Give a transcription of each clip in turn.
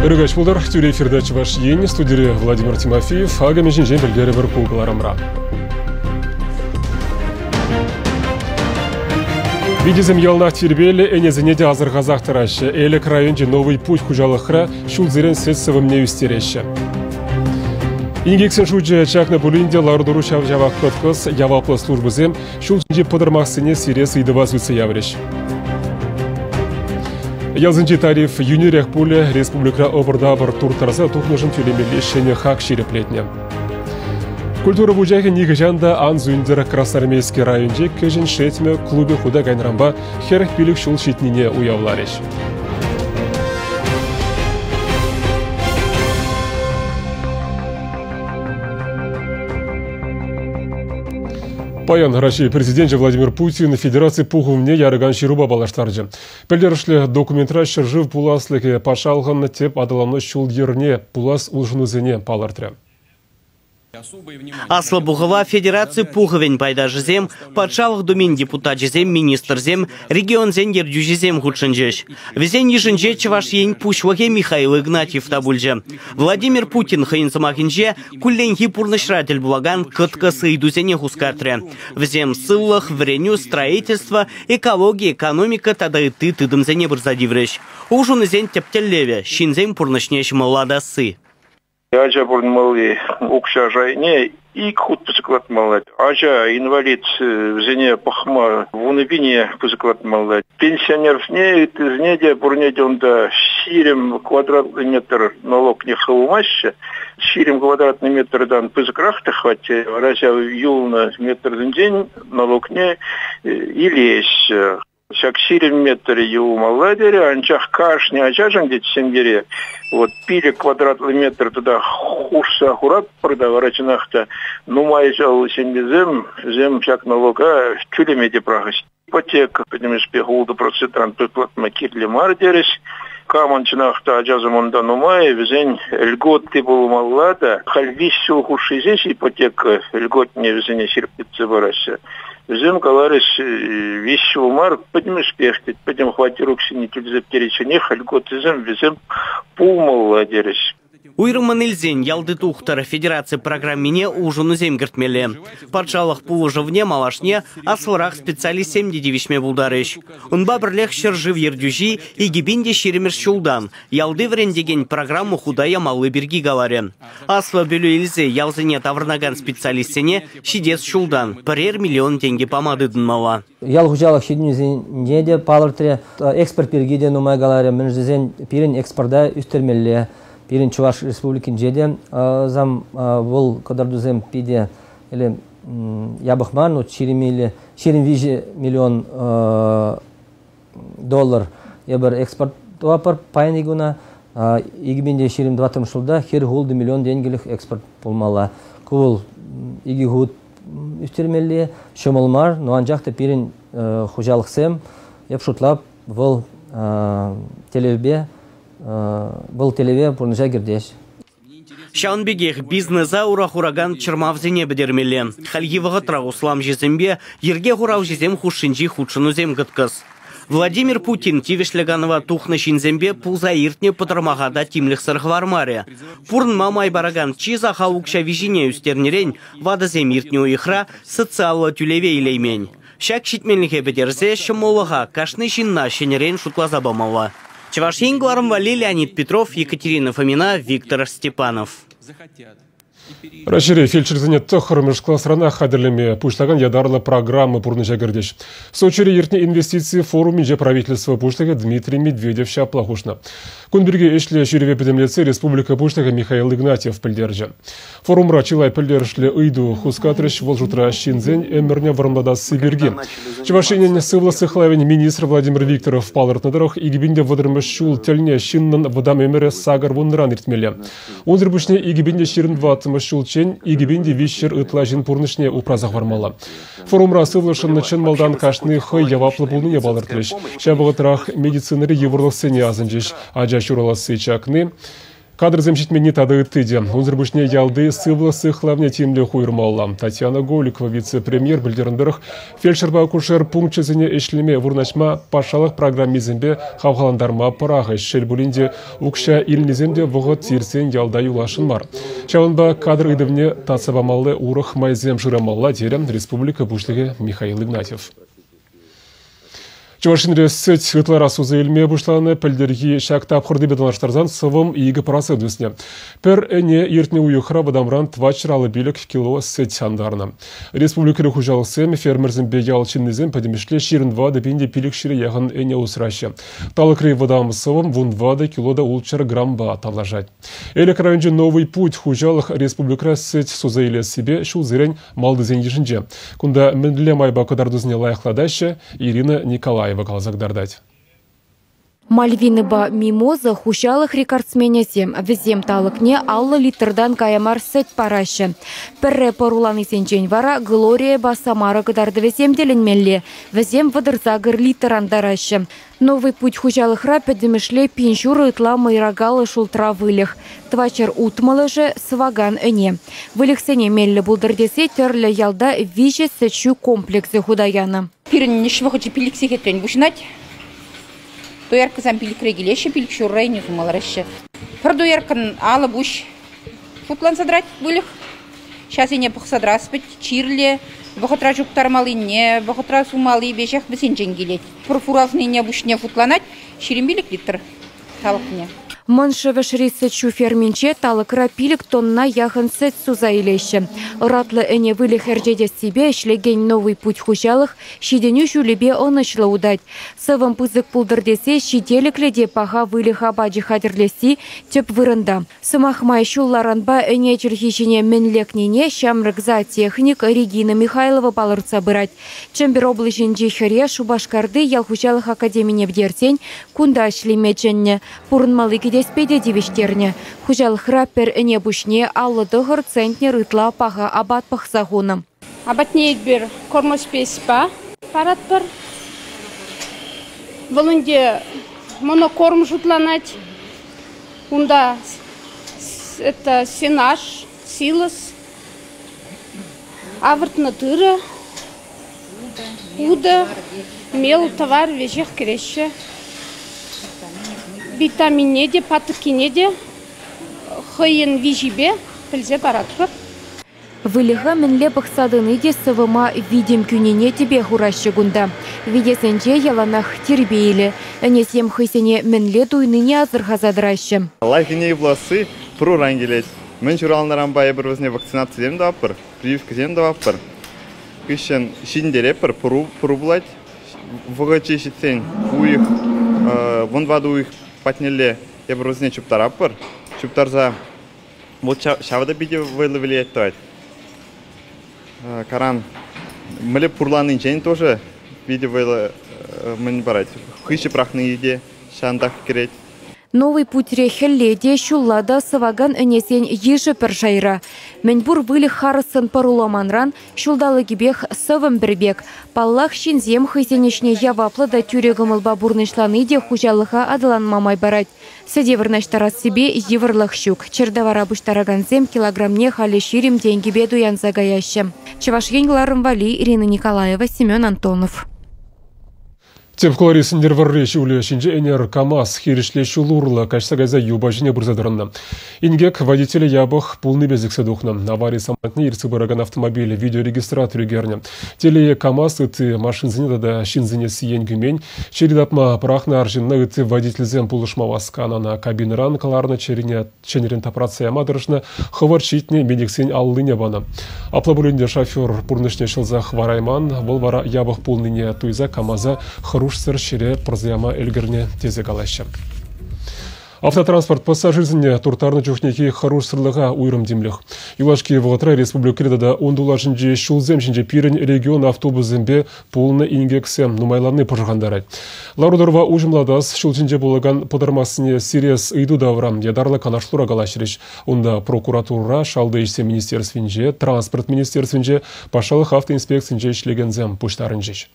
Ырӑ пултӑр. Тӳрӗ эфирта Чӑваш Ен, студире Владимир Тимофеев. Акӑ мӗн ҫинчен пӗлтерӗпӗр ку кӑларӑмра. Витесем яланах тирпейлӗ, ӗнесене те асӑрхасах тӑраҫҫӗ. Элӗк районӗнчи Новый путь хуҫалӑхра ҫулсерен сӗт сӑвӑмне ӳстереҫҫӗ. Инкексен шучӗ чакнӑ пулин те лару-тӑру ҫав-ҫавах кӑткӑс. Яваплӑ службӑсем ҫул ҫинчи пӑтӑрмахсене сирес ыйтӑва сӳтсе яврӗҫ. Ялсенчи тариф йӳнӗрех пулӗ, республикӑра ӑпӑр-тапӑр турттарса тухнӑшӑн тӳлемелли ҫӗнӗ хак ҫирӗплетнӗ. Культура вучахӗ нихӑҫан та ан сӳнтӗр. Красноармейски районӗнчи Кӗҫӗн Шетмӗ клубӗ хута кайнӑранпа 45 ҫул ҫитнине уявларӗҫ. Паян Раҫҫей Президенчӗ Владимир Путин Федераци Пухӑвне яракан ҫырупа паллаштарчӗ. Пӗлтерӗшлӗ документра ҫӗршыв пуласлӑхӗ патшалӑхӑн тӗп аталану ҫул-йӗрне, пулас улшӑнусене палӑртрӗ. Аслӑ Пухӑва Федераци Пухӑвӗн пайташӗсем, Патшалӑх Думин депутачӗсем, министрсем, регионсен ертӳҫисем хутшӑнчӗҫ. Вӗсен йышӗнче Чӑваш Ен Пуҫлӑхӗ Михаил Игнатьев та пулчӗ. Владимир Путин хӑйӗн сӑмахӗнче кулленхи пурнӑҫра тӗл пулакан кӑткӑс ыйтусене хускатрӗ. Вӗсем сывлӑх, вӗренӳ, строительство, экологи, экономика тата ытти тытӑмсене пырса тиврӗҫ. Улшӑнусен тӗп тӗллевӗ – ҫынсен пурнӑҫне ҫӑмӑллатасси. Ача пурӑнмалли укҫа шайне ик хут пысӑклатмалла. Ача инвалид вӗсене пӑхма 10 000 пысӑклатмалла. Пенсионерсене, ыттисене те пурне те унта 20 квадратный метр налогне хывмаҫҫӗ. 20 квадратный метртан пысӑкрах та хваттер, вара ҫав юлнӑ метрсенчен налогне илеҫҫӗ. Ҫак 20 метр юлмалла терӗ, анчах кашни ачашӑн тет ҫемьере вот 5 квадратлӑ метр тата хушса хуратпӑр та вара чӑнах та нумай ҫул ҫемьесем вӗсем ҫак налога тӳлеме те пӑрахӗҫ. Ипотека пӗтӗмӗшпе 6 процентран пысӑклатма кирлӗ мар терӗҫ. Камӑн чӑнах та ачасем унта нумай, вӗсен льготы пулмалла та. Халь 3 ҫул хушши ҫеҫ ипотека льготне вӗсене ҫирӗплетсе параҫҫӗ. Вӗсем каларӗҫ, виҫ ҫул мар, пӗтӗмӗшпех тет, пӗтӗм хваттер укҫине тӳлесе пӗтеричченех льготӑсем вӗсем пулмалла терӗҫ. Уйрӑммӑн илсен, ялти тухтӑр федераци программине улшӑнусем кӗртмелле. Патшалӑх пулӑшӑвне малашне аслӑрах специалистсем те тивӗҫме пултарӗҫ. Унпа пӗрлех ҫӗршыв ертӳҫи 2020 ҫултан ялти вӗрентекен программа хута ямалли пирки каларӗ. Аслӑ пӗлӳ илсе ялсене таврӑнакан специалистсене ҫитес ҫултан пӗрер миллион тенкӗ пама тытӑнмалла. Ял хуҫалӑх ҫитӗнӳсене те палӑртрӗ. Экспорт пирки те нумай каларӗ. Мӗншӗн тесен пирӗн экспорта ӳстермелле. Пирӗн Чӑваш Республикинче те зам вӑл кӑтартусем питӗ или япӑх мар, ну, 23 миллион доллар эпир экспорт тӑватпӑр паянхи куна. 2024 ҫулта 46 миллион тенкӗлӗх экспорт пулмалла. Ку вӑл икӗ хут ӳстермелли ҫӑмӑл мар, но анчах та пирӗн хуҫалӑхсем, эп шутлап, вӑл тӗллевпе вӑл тӗллеве пурнӑҫа кӗртеҫ. Ҫавӑн пекех бизнеса ура хуракан чӑрмавсене пӗтермелле. Хальхи вӑхӑтра усламҫӑсемпе йӗрке хуралҫисем хушшинчи хутшӑнусем кӑткӑс. Владимир Путин тивӗҫлӗ канӑва тухнӑ ҫынсемпе пулса иртнӗ пӑтӑрмаха та тимлӗхсӗр хӑвармарӗ. Пурӑнма май паракан чи сахал укҫа виҫине ӳстернӗрен ватӑсем иртнӗ уйӑхра социаллӑ тӳлеве илеймен. Ҫак ҫитменлӗхе пӗтерсе ҫӑмӑллӑха кашни ҫынна ҫӗнӗрен шутласа памалла. Чӑваш Ен кӑларӑм валли Леонид Петров, Екатерина Фомина, Виктор Степанов. Раҫҫейре фельдшерсене тӑххӑрмӗш класранах хатӗрлеме пуҫлакан ятарлӑ программа пурнӑҫа кӗртӗҫ. Сочире иртнӗ инвестици форумӗнче правительство пуҫлӑхӗ Дмитрий Медведев ҫапла хушнӑ. Кун пирки ӗҫлӗ ҫырӑве пӗтӗмлетсе республика Пуҫлӑхӗ Михаил Игнатьев пӗлтерчӗ. Форумра чылай пӗлтерӗшлӗ ыйту хускатрӗҫ, вӑл шутра ҫынсен ӗмӗрне вӑрӑмлатасси пирки. Чӑваш Енӗн сывлӑх сыхлавӗн министрӗ Владимир Викторов палӑртнӑ тӑрӑх, 2030 ҫул тӗлне ҫыннӑн вӑтам ӗмӗрӗ 80-ран иртмелле. Унсӑр пуҫне 2024 ҫулччен 2300 ытла ҫын пурнӑҫне упраса хӑвармалла. Форумра сывлӑшӑн чӑн малтан кашни хӑй яваплӑ пулнине палӑртрӗҫ. Ҫав вӑхӑтрах медицинӑри йывӑрлӑхсене асӑнчӗҫ. Ача ҫураласси чакни. Кадрсем ҫитменни тата ытти те. Унсӑр пуҫне ялти сывлӑх сыхлавне тимлӗх уйӑрмалла. Татьяна Голикова вице-премьер пӗлтернӗ тӑрӑх, фельдшерпа акушер пункчӗсене ӗҫлеме вырнаҫма патшалӑх программисемпе хавхалантарма пӑрахӗҫ. Шел пулин те, укҫа илнисем те вӑхӑт иртсен ялта юласшӑн мар. Ҫавӑнпа кадр ыйтӑвне татса памалли урӑх майсем шырамалла, терӗ республика Пуҫлӑхӗ Михаил Игнатьев. Чӑваш Енре сӗт ытларах суса илме пуҫланӑ. Пӗлтӗрхи ҫак тапхӑртипе танлаштарсан сӑвӑм 2% ӳснӗ. Пӗр ӗне иртнӗ уйӑхра вӑтамран 455 кило сӗт антарнӑ. Республикӑри хуҫалӑхсем, фермерсемпе ял ҫыннисем пӗтӗмӗшле 24 пин те 500 яхӑн ӗне усраҫҫӗ. Талӑкри вӑтам сӑвӑм 14 кило та 600 грампа тавлашать. Элӗк районӗнчи «Новый путь» хуҫалӑх республикӑра сӗт суса илессипе ҫулсерен малтисен йышӗнче. Кунта мӗнле майпа кӑтартусене лайӑхлатаҫҫӗ, Ирина Николаева каласа кӑтартать. Мальвинӑпа Мимоза хуҫалӑх рекордсменӗсем. Вӗсем талӑкне 50 литртан кая мар сӗт параҫҫӗ. Пӗрре пӑруланисенчен вара Глорияпа Самара кӑтартӑвӗсем тӗлӗнмелле. Вӗсем 38 литр антараҫҫӗ. Новый путь хуҫалӑхра пӗтӗмӗшле 1500 ытла мӑйракаллӑ шултра выльӑх, 460-ӑшӗ сӑвакан ӗне. Выльӑхсене меллӗ пултӑр тесе тӗрлӗ ялта виҫӗ сӗт-ҫу комплексӗ хута янӑ. Пирӗн ӗҫ вӑхӑчӗ 5 сехетрен пуҫӑнать. Дояркӑсем пилӗкре килеҫҫӗ, пилӗк ҫурра ӗне сума лараҫҫӗ. Пӗр дояркӑн алӑ пуҫ шутланса тӑрать выльӑх. Ҫасене пӑхса тӑрас пӗт, чирлӗ, вӑхӑтра чуптармаллине, вӑхӑтра сумалли веҫех вӗсенчен килет. Пӗр фуражнине пуҫне шутланать 25 литр талӑкне. Мӑн Шӗвӗшри сӗт-ҫу ферминче талӑкра 5 тонна яхӑн сӗт суса илеҫҫӗ. Ӑратлӑ ӗне выльӑх ӗрчетессипе ӗҫлекен «Новый путь» хуҫалӑх ҫитӗнӳ ҫулӗпе ӑнӑҫлӑ утать. Сӑвӑм пысӑк пултӑр тесе ҫителӗклӗ те паха выльӑх апачӗ хатӗрлесси тӗп вырӑнта. Сӑмах май, ҫулларанпа ӗне чӗлхи ҫине мӗн лекнине ҫамрӑк зоотехник Регина Михайлова палӑртса пырать. Чӗмпӗр облаҫӗнчи хӗре Шупашкарти ял хуҫалӑх академине пӗтерсен кунта ӗҫлеме чӗннӗ. Пурӑнмалли кӗтеспе те тивӗҫтернӗ. Хуҫалӑхра пӗр ӗне пуҫне 59 центнер ытла паха апат пӑхса хунӑ. Апатне эпир кормоспейспа паратпӑр. Вӑл ӗнтӗ монокорм шутланать. Унта это сенаж, силос, авӑртнӑ тырӑ, утӑ, мел, тӑвар веҫех кӗреҫҫӗ. Витаминне те, патӑккине те хӑйӗн виҫипе пӗлсе паратпӑр. Выльӑха мӗнле пӑхса тӑни те сӑвӑма витӗм кӳнине тӗпе хураҫҫӗ кунта. Витесенче яланах тирпейлӗ. Ӗнесем хӑйсене мӗнле туйнине асӑрхаса тӑраҫҫӗ. Лайӑх ӗне пуласси пӑруран килет. Мӗн ҫуралнӑранпа эпир вӗсене вакцинацисем тӑватпӑр, прививкӑсем тӑватпӑр. Хыҫҫӑн ҫитӗнтеретпӗр, пӑру пулать. Вӑхӑчӗ ҫитсен уйӑх, 14 уйӑх патнелле эпир вӗсене чуптаратпӑр. Чуптарса Вот ҫавӑ та питӗ вӑйлӑ влиять тӑвать. Каран мӗнле пурланнинчен тоже питӗ вӑйлӑ мӗн парать. Хыҫӗ пӑрахни те ҫавӑнтах кӗрет. Новый путьре хӗлле те, ҫулла та сӑвакан ӗнесен йышӗ пӗр шайра. Мӗнпур выльӑх харӑссӑн пӑруламанран ҫулталӑкӗпех сӑвӑм пӗр пек. Паллах, ҫынсем хӑйсен ӗҫне яваплӑ та тӳрӗ кӑмӑлпа пурнӑҫлани те хуҫалӑха аталанма май парать. Сӗте вырнаҫтарассипе йывӑрлӑх ҫук. Чӗртавара пуҫтаракансем килограмне халӗ 20 тенкӗпе туянса каяҫҫӗ. Чӑваш Ен кӑларӑм валли Ирина Николаева, Семен Антонов. Тӗп хулари Сӗнтӗрвӑрри ҫулӗ ҫинче ӗнер КАМАЗ хирӗҫле ҫул урлӑ каҫса кайса юпа ҫине пырса тӑрӑннӑ. Инкек водителӗ япӑх пулнипе сиксе тухнӑ. Авари самантне ертсе пыракан автомобиль видеорегистратор ӳкернӗ. Телее, КАМАЗ ытти машинсене тата ҫынсене сиен кӳмен. Чӗри тапма пӑрахнӑ арҫынна ытти водительсем пулӑшма васканӑ. Ӑна кабинӑран кӑларнӑ чӗрине чӗнӗрен тапратса яма тӑрӑшнӑ, хӑвӑрт ҫитнӗ медиксен аллине панӑ. Апла пулин те шофер пурнӑҫне ҫӑлса хӑварайман, вӑл вара япӑх пулнине туйса КАМАЗа хӑрушсӑр ҫӗре пӑрса яма ӗлкӗрнӗ тесе калаҫҫӗ. Автотранспорт пассажирсене турттарнӑ чухнехи хӑрушсӑрлӑха уйрӑм тимлӗх. Юлашки вӑхӑтра республикӑри тата ун тулашӗнчи ҫулсем ҫинче пирӗн регион автобусӗсемпе пулнӑ инкексем нумайланни пӑшӑрхантарать. Лару-тӑрӑва уҫӑмлатас, ҫул ҫинче пулакан пӑтӑрмахсене сирес ыйту тавра ятарлӑ канашлура калаҫрӗҫ. Унта прокуратурӑра, Шалти ӗҫсен министерствинче, Транспорт министерствинче, патшалӑх автоинспекцинче ӗҫлекенсем пуҫтарӑнчӗҫ.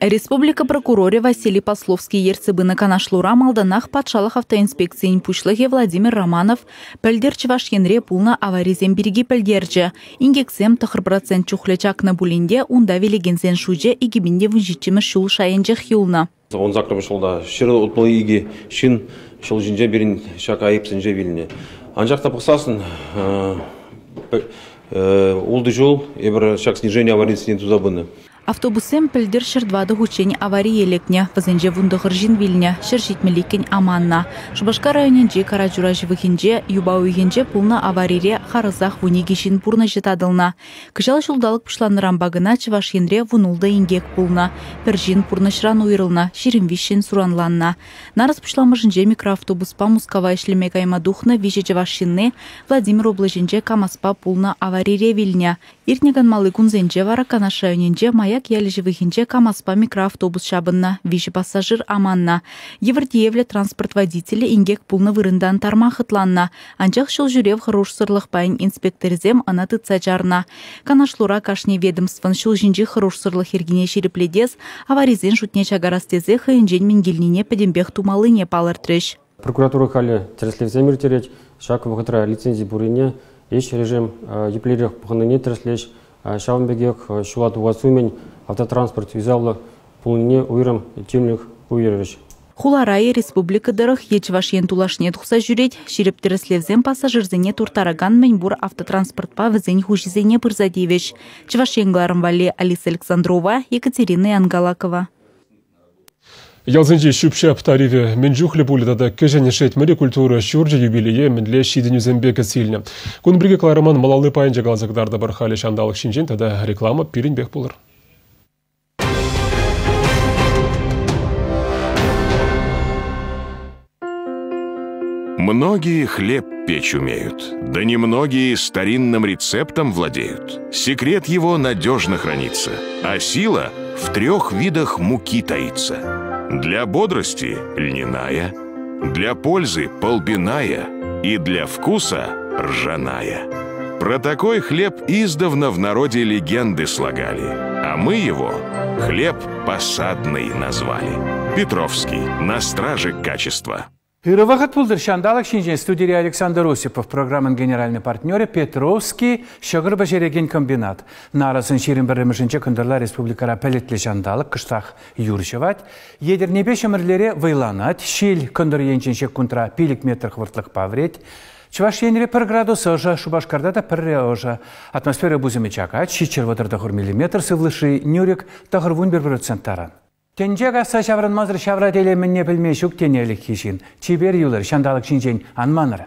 Республика прокурорӗ Василий Пословский ертсе пынӑ канашлура малтанах патшалӑх автоинспекцийӗн пуҫлӑхӗ Владимир Романов пӗлтӗр Чӑваш Енре пулнӑ аварисем пирки пӗлтерчӗ. Инкексем 9% чухлӗ чакнӑ пулин те унта вилекенсен шучӗ 2017-мӗш ҫул шайӗнчех юлнӑ. 18-мӗш ҫулта 162 ҫын ҫул ҫинче пирӗн ҫак айӑпсенче вилнӗ. Анчах та пӑхсассӑн ултӑ ҫул эпир ҫак снижение аварийӗсене туса пынӑ. Автобуссем пӗлтӗр 104 хутчен аварие лекнӗ. Вӗсенче 19 ҫын вилнӗ, 172 аманнӑ. Шупашкар районӗнчи Карачура ҫывӑхӗнче юпа уйӑхӗнче пулнӑ аварире харӑсах 12 ҫын пурнӑҫӗ татӑлнӑ. Кӑҫал ҫулталӑк пуҫланнӑранпа кӑна Чӑваш Енре 16 инкек пулнӑ. Пӗр ҫын пурнӑҫран уйрӑлнӑ, 23 суранланнӑ. Нарӑс пуҫламӑшӗнче микроавтобуспа Мускава ӗҫлеме кайма тухнӑ виҫӗ чӑваш ҫынни Владимир облаҫӗнче КАМАЗпа пулнӑ аварире вилнӗ. Иртнӗ канмалли кунсенче вара Канаш районӗнче Маяк ялӗ ҫывӑхӗнче КАМАЗпа микроавтобус ҫапӑннӑ, виҫӗ пассажир аманнӑ. Йывӑр тиевлӗ транспорт водителӗ инкек пулнӑ вырӑнтан тарма хӑтланнӑ, анчах ҫул ҫӳрев хӑрушсӑрлӑх пайӗн инспекторӗсем ӑна тытса чарнӑ. Канашлура кашни ведомствӑн ҫул ҫинчи хӑрушсӑрлӑх йӗркине ҫирӗплетес, аварисен шутне чакарас тесе хӑйӗнчен мӗн килнине пӗтӗмпех тумаллине палӑртрӗҫ. Прокуратура халӗ тӗрӗслевсем ирттерет. Ҫак вӑхӑтра лицензи пуррине, ӗҫ режим еплерех пӑхӑннине тӗрӗслӗҫ. Ҫавӑн пекех ҫула тухас умӗн автотранспорт юсавлӑ пулнине уйрӑм тимлӗх уйӑрӗҫ. Хулара е республика тӑрӑх, е Чӑваш Ен тулашне тухса ҫӳрет, ҫирӗп тӗрӗслевсем пассажирсене турттаракан мӗнпур автотранспортпа вӗсен хуҫисене пырса тивӗҫ. Чӑваш Ен кӑларӑм валли Алиса Александрова, Екатерина Янгалакова. Ялсенчи ҫӳп-ҫап тарифӗ мӗн чухлӗ пулӗ тата Кӗҫӗн Шетмӗри культура ҫурчӗ юбилее мӗнле ҫитӗнӳсемпе кӗтсе илнӗ. Кун пирки кӑларӑмӑн малалли пайӗнче каласа кӑтартӑпӑр. Халӗ ҫанталӑк ҫинчен тата реклама пирӗнпех пулӑр. Многие хлеб печь умеют, да немногие старинным рецептом владеют. Секрет его надежно хранится, а сила в трех видах муки таится. Для бодрости – льняная, для пользы – полбиная и для вкуса – ржаная. Про такой хлеб издавна в народе легенды слагали, а мы его хлеб посадный назвали. Петровский на страже качества. Ырӑ вӑхӑт пултӑр ҫанталӑк ҫинчен студире Александр Осипов, программӑн генеральный партнерӗ Петровский ҫӑкӑр пӗҫерекен комбинат. Нарӑсӑн 21-мӗшӗнче кӑнтӑрла республикӑра пӗлӗтлӗ ҫанталӑк кӑштах юр ҫӑвать. Етӗрнепе Ҫӗмӗрлере вӑйланать. Ҫил кӑнтӑр енчен ҫеккунтра 5 метр хӑвӑртлӑхпа вӗрет. Чӑваш Енре пӗр градус ӑшӑ, Шупашкарта та пӗрре ӑшӑ. Атмосфера пусӑмӗ чакать, 739 миллиметр, сывлӑшри нӳрӗк 91% таран. Тӗнче касса ҫаврӑнмасӑр ҫавра телей мӗнне пӗлме ҫук тенӗ ӗлӗкхи ҫын. Чипер юлӑр, ҫанталӑк ҫинчен ан манӑр.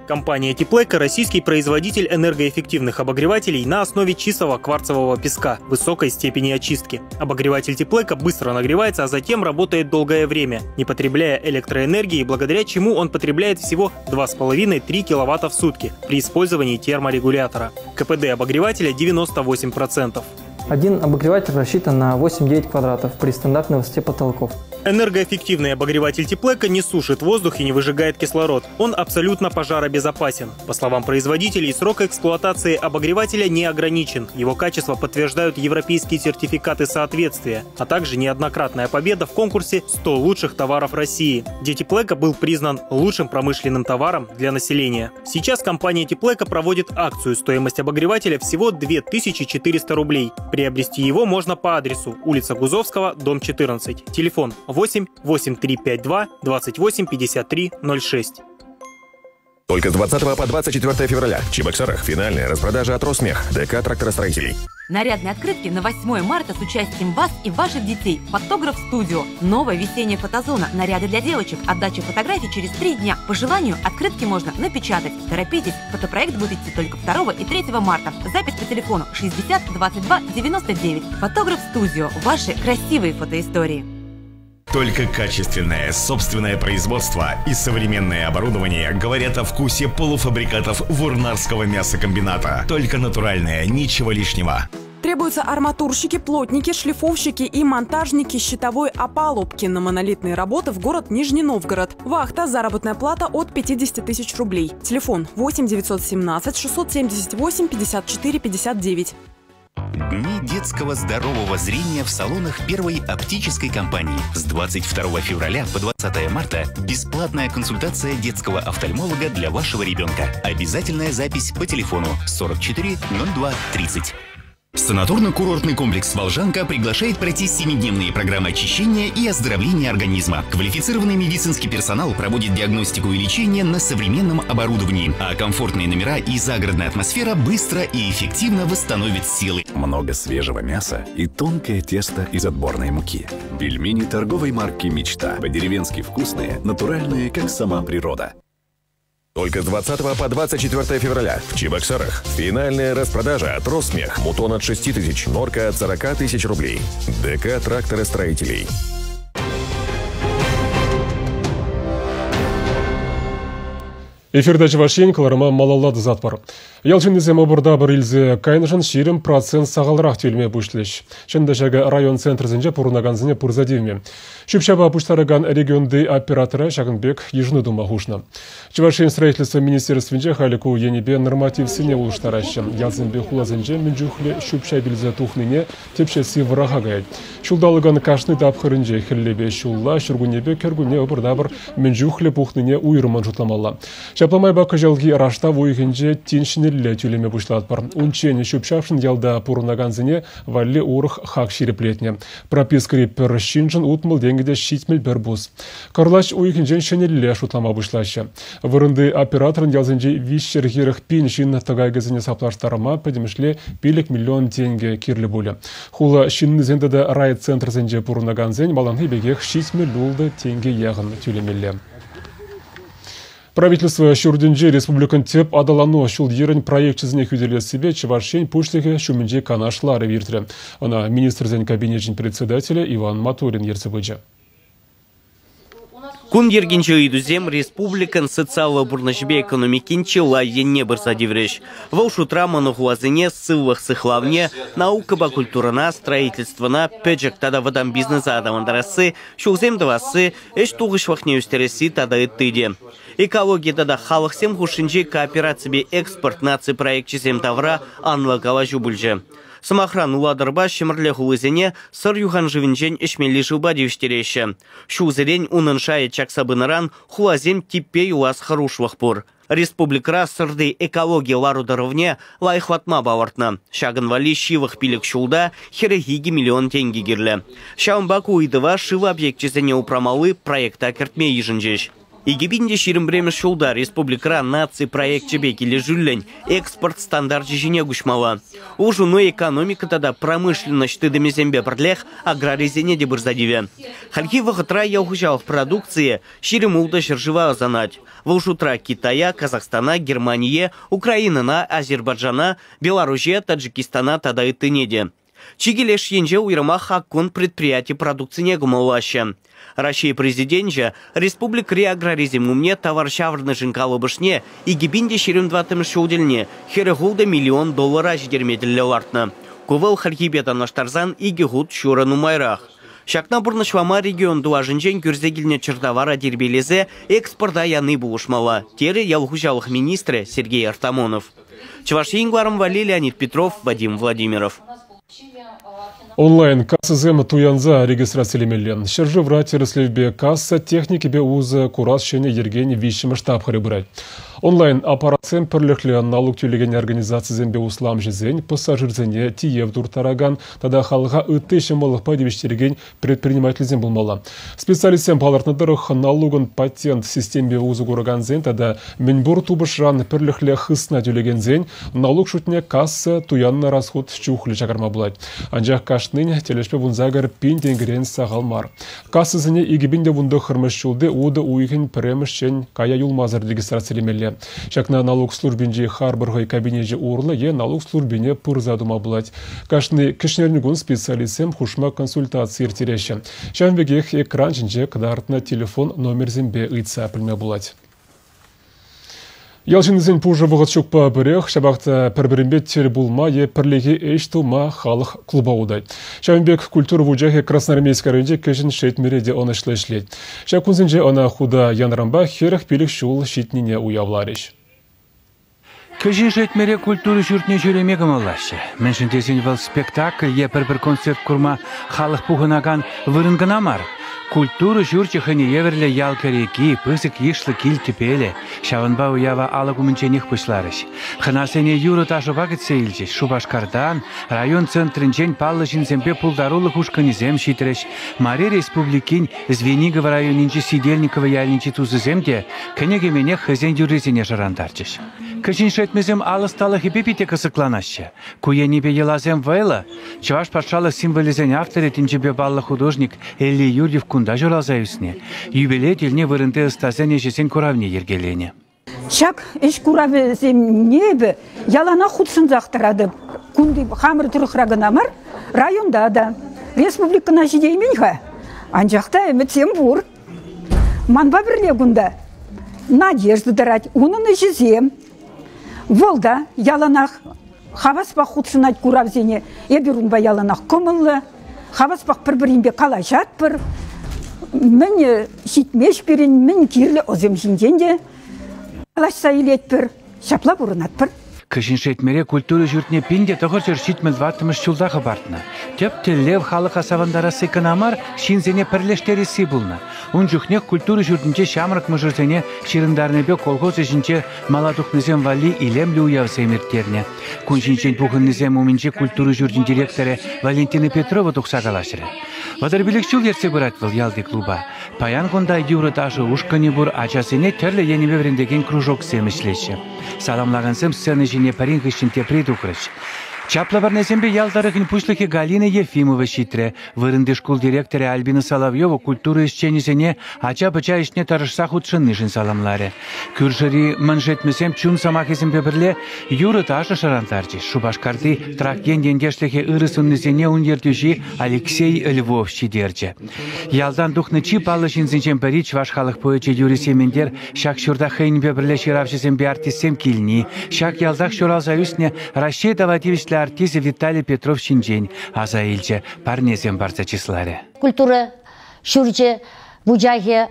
Компания Теплэко – российский производитель энергоэффективных обогревателей на основе чистого кварцевого песка высокой степени очистки. Обогреватель Теплэко быстро нагревается, а затем работает долгое время, не потребляя электроэнергии, благодаря чему он потребляет всего 2,5-3 киловатта в сутки при использовании терморегулятора. КПД обогревателя 98%. Один обогреватель рассчитан на 8-9 квадратов при стандартной высоте потолков. Энергоэффективный обогреватель Теплэко не сушит воздух и не выжигает кислород. Он абсолютно пожаробезопасен. По словам производителей, срок эксплуатации обогревателя не ограничен. Его качество подтверждают европейские сертификаты соответствия, а также неоднократная победа в конкурсе «100 лучших товаров России», где Теплэко был признан лучшим промышленным товаром для населения. Сейчас компания Теплэко проводит акцию. Стоимость обогревателя всего 2400 рублей. Приобрести его можно по адресу улица Гузовского, дом 14. Телефон 8 8352 28 53 06. Только с 20 по 24 февраля в Чебоксарах финальная распродажа от Росмех, ДК тракторостроителей. Нарядные открытки на 8 марта с участием вас и ваших детей. Фотограф Студио. Новая весенняя фотозона. Наряды для девочек. Отдача фотографий через 3 дня. По желанию открытки можно напечатать. Торопитесь, фотопроект будет идти только 2 и 3 марта. Запись по телефону 60 22 99. Фотограф Студио. Ваши красивые фотоистории. Только качественное собственное производство и современное оборудование говорят о вкусе полуфабрикатов Вурнарского мясокомбината. Только натуральное, ничего лишнего. Требуются арматурщики, плотники, шлифовщики и монтажники щитовой опалубки на монолитные работы в город Нижний Новгород. Вахта, заработная плата от 50 тысяч рублей. Телефон 8 917 678 54 59. Дни детского здорового зрения в салонах первой оптической компании. С 22 февраля по 20 марта бесплатная консультация детского офтальмолога для вашего ребенка. Обязательная запись по телефону 44 02 30. Санаторно-курортный комплекс «Волжанка» приглашает пройти семидневные программы очищения и оздоровления организма. Квалифицированный медицинский персонал проводит диагностику и лечение на современном оборудовании, а комфортные номера и загородная атмосфера быстро и эффективно восстановят силы. Много свежего мяса и тонкое тесто из отборной муки. Пельмени торговой марки «Мечта». По-деревенски вкусные, натуральные, как сама природа. Только с 20 по 24 февраля в Чебоксарах. Финальная распродажа от Росмех. Мутон от 6 тысяч, норка от 40 тысяч рублей. ДК тракторостроителей. Эфирда Чӑваш Ен кӑларӑма малалла тӑсатпӑр. Ял ҫыннисем ӑпӑр-тапӑр илсе кайнӑшӑн 20% сахалрах тӳлеме пуҫлӗҫ. Чӑн та ҫакӑ район центрӗсенче пурӑнакансене пырса тивмӗ. Ҫӳп-ҫапа пуҫтаракан регионти оператора ҫакӑн пек йышӑну тума хушнӑ. Чӑваш Ен строительство министерствинче халӗ ку енӗпе нормативсене улӑштараҫҫӗ. Ялсемпе хуласенче мӗн чухлӗ ҫӳп-ҫап илсе тухнине тӗпчесси вӑраха каять. Ҫулталӑкӑн кашни тапхӑрӗнче хӗллепе ҫулла, ҫуркуннепе кӗркунне ӑпӑр-тапӑр мӗн чухлӗ пухнине уйрӑммӑн шутламалла. Ҫапла майпа кӑҫалхи раштав уйӑхӗнче тин ҫӗнӗлле тӳлеме пуҫлатпӑр. Унччен ҫӳп-ҫапшӑн ялта пурӑнакансене валли урӑх хак ҫирӗплетнӗ. Пропискӑри пӗр ҫыншӑн 60 тенкӗ те 71 пус. Кӑрлач уйӑхӗнчен ҫӗнӗлле шутлама пуҫлаҫҫӗ. Вырӑнти операторӑн ялсенчи 340 пин ҫын тӑкакӗсене саплаштарма пӗтӗмӗшле 5 миллион тенкӗ кирлӗ пулӗ. Хула ҫыннисен тата райцентрсенче пурӑнакансен малтанхи пекех 76 тенкӗ яхӑн тӳлемелле. Правительство ҫуртӗнче республикӑн тӗп аталану ҫул-йӗрӗн проекчӗсене хӳтӗлессипе Чӑваш Ен Пуҫлӑхӗ ҫумӗнчи канаш ларӑвӗ иртрӗ. Ӑна Министрсен Кабинечӗн председателӗ Иван Моторин ертсе пычӗ. Кун йӗркинчи ыйтусем республикӑн социаллӑ пурнӑҫӗпе экономикин чылай енне пырса тиврӗҫ. Вӑл шутра монохуласене сывлӑх сыхлавне, наукӑпа культурӑна, строительствӑна, пӗчӗк тата вӑтам бизнеса аталантарасси, ҫулсем тӑвасси, ӗҫ тухӑҫлӑхне ӳстересси тата ытти те. Экологи тата халӑхсем хушшинчи коопераципе экспорт наци проекчӗсем тавра анлӑ калаҫу пулчӗ. Сӑмахран, Улатӑрпа Ҫӗмӗрле хулисене Сӑр юханшывӗнчен ӗҫмелли шывпа тивӗҫтереҫҫӗ. Ҫулсерен унӑн шайӗ чакса пынӑран хуласем типпе юлас хӑрушлӑх пур. Республикӑра Сӑрти экологи лару-тӑрӑвне лайӑхлатма палӑртнӑ. Ҫакӑн валли ҫывӑх 5 ҫулта 42 миллион тенкӗ кирлӗ. Ҫавӑнпа ку ыйтӑва шыв объекчӗсене упрамалли проекта кӗртме йышӑнчӗҫ. 2021 ҫулта республикӑра наци проекчӗпе килӗшӳллӗн экспорт стандарчӗ ҫине куҫмалла. Улшӑну экономика тата промышленноҫ тытӑмӗсемпе пӗрлех аграрисене те пырса тивӗ. Хальхи вӑхӑтра ял хуҫалӑх продукцийӗ 26 ҫӗршыва ӑсанать. Вӑл шутра Китая, Казахстана, Германие, Украинӑна, Азербайджана, Беларуҫе, Таджикистана тата ыттине те. Чикӗ леш енче уйрӑмах Хаккун предприяти продукцине кӑмӑллаҫҫӗ. Раҫҫей Президенчӗ республикӑри аграрисем умне тавар ҫаврӑнӑшӗн калӑпӑшне 2024 ҫул тӗлне 46 миллион доллара ҫитерме тӗллев лартнӑ. Ку вӑл хальхипе танлаштарсан икӗ хут ҫурӑ нумайрах. Ҫакна пурнӑҫлама регион тулашӗнчен кӳрсе килнӗ чӗртавара тирпейлесе экспорта яни пулӑшмалла, терӗ ял хуҫалӑх министрӗ Сергей Артамонов. Чӑваш Ен кӑларӑм валли Леонид Петров, Вадим Владимиров. Онлайн кассӑсем туянса регистрацилемелле. Ҫӗршывра тӗрӗслевпе касса техникипе усӑ курас ҫӗнӗ йӗркен виҫҫӗмӗш тапхӑрӗ пырать. Онлайн аппаратсем пӗрлӗхлӗ налук тӳлекен организацисемпе усламҫӑсен, пассажирсене тиев турттаракан тата халӑха ытти ҫӑмӑллӑхпа тивӗҫтерекен предпринимательсем пулмалла. Специалистсем палӑртнӑ тӑрӑх, налукӑн патент системипе усӑ куракансен тата мӗнпур тупӑшран пӗрлӗхлӗ хысна тӳлекенсен налук шутне касса туяннӑ расхут чухлӗ чакарма пулать. Анчах кашнин тӗлӗшпе 18 пин тенкӗрен сахал мар. Кассӑсене 2019 ҫулти утӑ уйӑхӗн пӗрремӗшчен кая юлмасӑр регистрацилемелле. Ҫакна налук службинчи харпӑр хӑй кабинечӗ урлӑ е налук службине пырса тума пулать. Кашни кӗҫнерникун специалистсем хушма консультаци ирттереҫҫӗ. Ҫавӑн пекех экран ҫинче кӑтартнӑ телефон номерсемпе ыйтса пӗлме пулать. Ял ҫыннисен пушӑ вӑхӑт ҫукпа пӗрех, ҫапах та пӗр-пӗринпе тӗл пулма е пӗрлехи ӗҫ тума халӑх клуба утать. Ҫавӑн пек культура вучахӗ Красноармейски районӗнчи Кӗҫӗн Шетмӗре те ӑнӑҫлӑ ӗҫлет. Ҫак кунсенче ӑна хута янӑранпа 45 ҫул ҫитнине уявларӗҫ. Кӗҫӗн Шетмӗре культура ҫуртне ҫӳреме кӑмӑллаҫҫӗ. Мӗншӗн тесен вӑл спектакль е пӗр-пӗр концерт курма халӑх пухӑнакан вырӑн кӑна мар. Культура ҫурчӗ хӑйне евӗрлӗ ял кӗреки, пысӑк йышлӑ кил тӗпелӗ. Ҫавӑнпа уява алӑк умӗнченех пуҫларӗҫ. Хӑнасене юрӑ-ташӑпа кӗтсе илчӗҫ. Шупашкартан, район центрӗнчен паллӑ ҫынсемпе пултарулӑх ушкӑнӗсем ҫитрӗҫ. Мари Республикин Звенигово районӗнчи Сидельниково ялӗнчи тусӗсем те кӗнекеменех хӑйсен юррисене шӑрантарчӗҫ. Кӗҫӗн Шетмӗсем ал ӑсталӑхӗпе питӗ кӑсӑкланаҫҫӗ. Ку енӗпе йӑласем вӑйлӑ. Чӑваш патшалӑх символӗсен авторӗ тӗнчипе паллӑ художник Элли Юрьев кунта ҫуралса ӳснӗ. Юбилей тӗлне вырӑнти ӑстасен ӗҫӗсен куравне йӗркеленӗ. Ҫак ӗҫ куравӗсене эпӗ яланах хутшӑнсах тӑратӑп. Кунти хамӑр тӑрӑхра кӑна мар, районта та. Республикӑна ҫитеймен-ха, анчах та ӗмӗтсем пур. Манпа пӗрле кунта Надежда тӑрать, унӑн ӗҫӗсем. Вӑл та яланах хаваспах хутшӑнать куравсене. Эпир унпа яланах кӑмӑллӑ, хаваспах пӗр-пӗринпе калаҫатпӑр. Мӗн ҫитмест пирӗн, мӗн кирлӗ ӑсем ҫинчен те калаҫса илетпӗр. Ҫапла пурӑнатпӑр. Кӗҫӗн Шетмӗре культура ҫуртне 1974 ҫулта хӑпартнӑ. Тӗп тӗллев халӑха савӑнтарасси кӑна мар, ҫынсене пӗрлештересси пулнӑ. Ун чухнех культура ҫуртӗнче ҫамрӑк мӑшӑрсене ҫырӑнтарнипе колхоз ӗҫӗнче мала тухнисем валли илемлӗ уявсем ирттернӗ. Кун ҫинчен пухӑннисем умӗнче культура ҫурчӗн директорӗ Валентина Петрова тухса калаҫрӗ. 35 ҫул ертсе пырать вӑл ялти клуба. Паян кунта юрӑ-ташӑ ушкӑнӗ пур, ачасене тӗрлӗ енӗпе вӗрентекен кружоксем ӗҫлеҫҫӗ. Саламлакансем сцена ҫине пӗрин хыҫҫӑн тепри тухрӗҫ. Чаплӑ парнесемпе ял тӑрӑхӗн пуҫлӑхӗ Галина Ефимова ҫитрӗ. Вырӑнти шкул директорӗ Альбина Соловьева культура ӗҫченӗсене ача-пӑча ӗҫне тӑрӑшса хутшӑннишӗн саламларӗ. Кӳршӗри Мӑн Шетмӗсем чун сӑмахӗсемпе пӗрле юрӑ-ташӑ шӑрантарчӗҫ. Шупашкарти Трак ен ентешлӗхӗ ырӑ суннисене ун ертӳҫи Алексей Львов ҫитерчӗ. Ялтан тухнӑ чи паллӑ ҫынсенчен пӗри чӑваш халӑх поэчӗ Юрий Сементер ҫак ҫурта хӑйӗнпе пӗрле ҫыравҫӑсемпе артистсем килни, ҫак ялтах ҫуралса ӳснӗ Раҫҫей тава тивӗҫлӗ артисчӗ Виталий Петров ҫинчен аса илчӗ, парнесем парса чысларӗ. Культура ҫурчӗ вучахӗ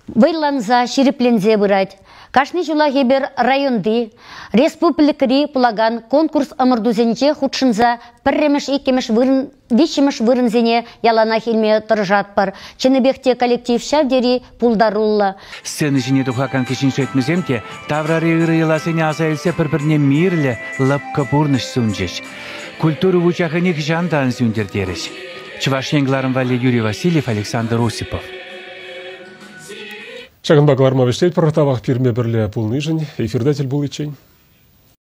вӑйланса, ҫирӗпленсе пырать. Кашни ҫулах эпир районти, республикӑри пулакан конкурс-ӑмӑртусенче хутшӑнса пӗрремӗш, иккӗмӗш вырӑн, виҫҫӗмӗш вырӑнсене яланах илме тӑрӑшатпӑр. Чӑннипех те коллектив ҫав тери пултаруллӑ. Сцена ҫине тухакан кӗҫӗн шетмӗсем те таврари ырӑ йӑласене аса илсе пӗр-пӗрне мирлӗ, лӑпкӑ пурнӑҫ сунчӗҫ. Культура вучахӗ нихӑҫан та ан сӳнтӗр терӗҫ. Чӑваш Ен кӑларӑм валли Юрий Васильев, Александр Осипов. Ҫакӑнпа кӑларма вӗҫлетпӗр. Тавах пирме пӗрле пулнишӗн. Эфирта тӗл пуличчен.